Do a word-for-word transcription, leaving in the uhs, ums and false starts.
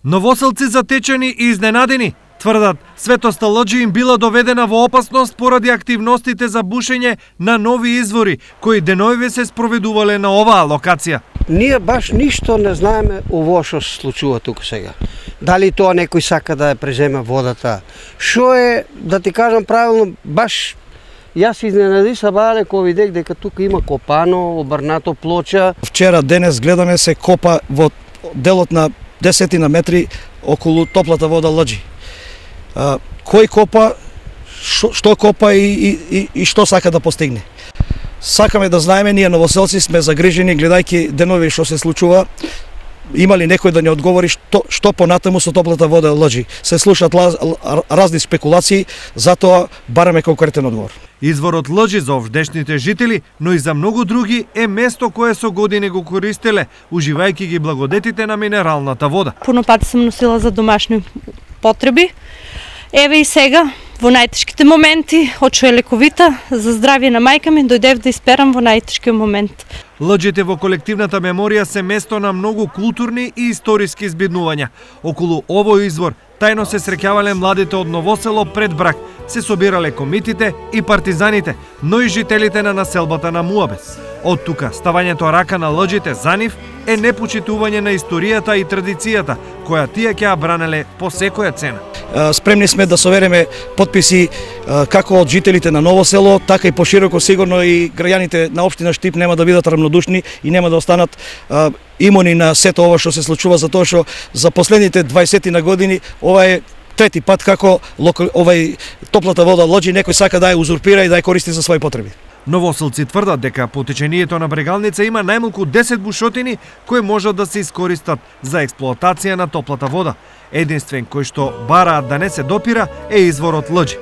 Новоселци затечени и изненадени тврдат светоста Лоџи им била доведена во опасност поради активностите за бушење на нови извори кои денојве се спроведувале на оваа локација. Ние баш ништо не знаеме ово што се случува тука сега. Дали тоа некој сака да ја преземе водата? Што е, да ти кажам правилно, баш јас се изненади сабале кога видех дека тука има копано, обрнато плоча. Вчера, денес гледаме се копа во делот на десетина метри околу топлата вода Лоџи. А, кој копа, шо, што копа и, и, и што сака да постигне. Сакаме да знаеме, ние новоселци сме загрижени гледајќи денови што се случува. Има ли некој да не одговори што, што понатаму со топлата вода Лоџи? Се слушаат лаз, разни спекулации, затоа бараме конкретен одговор. Изворот Лоџи за овдешните жители, но и за многу други е место кое со години го користеле, уживајќи ги благодетите на минералната вода. Пуно пати сум носила за домашни потреби. Еве и сега, во најтешките моменти, очу е лековита, за здравје на мајка ми, дојдев да исперам во најтешкиот момент. Лоџите во колективната меморија се место на многу културни и историски збиднувања. Околу овој извор тајно се среќавале младите од Новосело пред брак, се собирале комитите и партизаните, но и жителите на населбата на Муабес. Од тука, ставањето рака на Лоџите за нив е непочитување на историјата и традицијата, која тие ќе ја бранеле по секоја цена. Спремни сме да совереме потписи како од жителите на Новосело, така и пошироко, сигурно и граѓаните на општина Штип нема да бидат рамнодушни и нема да останат имуни на сето ова што се случува, затоа што за последните дваесет на години ова е трети пат како овај топлата вода Лоџи некој сака да ја узурпира и да ја користи за своји потреби. Новоселци тврдат дека по течението на брегалница има најмалку десет бушотини кои можат да се искористат за експлоатација на топлата вода. Единствен кој што бараат да не се допира е изворот Лоџи.